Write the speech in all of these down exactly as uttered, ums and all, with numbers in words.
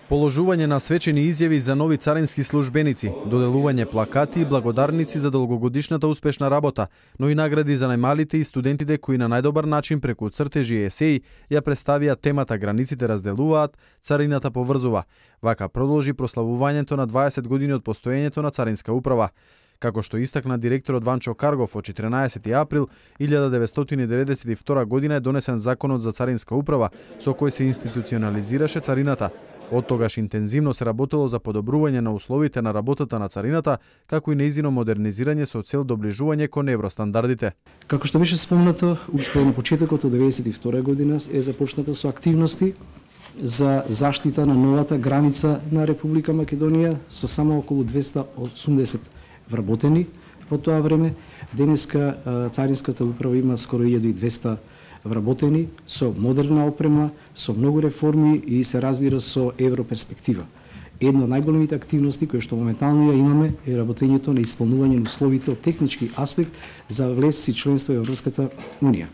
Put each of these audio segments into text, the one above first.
Положување на свечени изјави за нови царински службеници, доделување плакати и благодарници за долгогодишната успешна работа, но и награди за најмалите и студентите кои на најдобар начин преку цртежи и есеи ја представија темата "Границите разделуваат, царината поврзува". Вака продолжи прославувањето на дваесет години од постоењето на Царинска управа. Како што истакна директорот Ванчо Каргов, од четиринаесети април илјада деветстотини деветдесет и втора година е донесен Законот за Царинска управа, со кој се институционализираше царината. Од тогаш интензивно се работело за подобрување на условите на работата на царината, како и нејзино модернизирање со цел доближување кон евростандардите. Како што беше спомнато, уште на почетокот од деветдесет и втора година е започната со активности за заштита на новата граница на Република Македонија со само околу двесте и осумдесет вработени во тоа време. Денеска Царинската управа има скоро илјада и двесте вработени со модерна опрема, со многу реформи и се разбира со европерспектива. Една од најголемите активности кои што моментално ја имаме е работењето на исполнување на условите од технички аспект за влез и членство во Европската унија.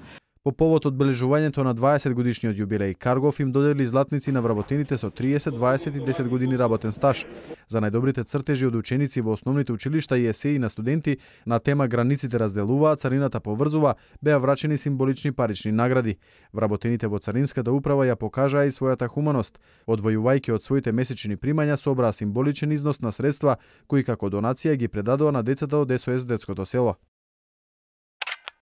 По повод одбележувањето на дваесет годишниот јубилеј, Каргов им додели златници на вработените со триесет, дваесет и десет години работен стаж. За најдобрите цртежи од ученици во основните училишта и есеи на студенти на тема "Границите разделуваат, царината поврзува" беа врачени символични парични награди. Вработените во Царинската управа ја покажаа и својата хуманост. Одвојувајќи од своите месечни примања собраа символичен износ на средства кои како донација ги предадоа на децата од ес о ес детското село.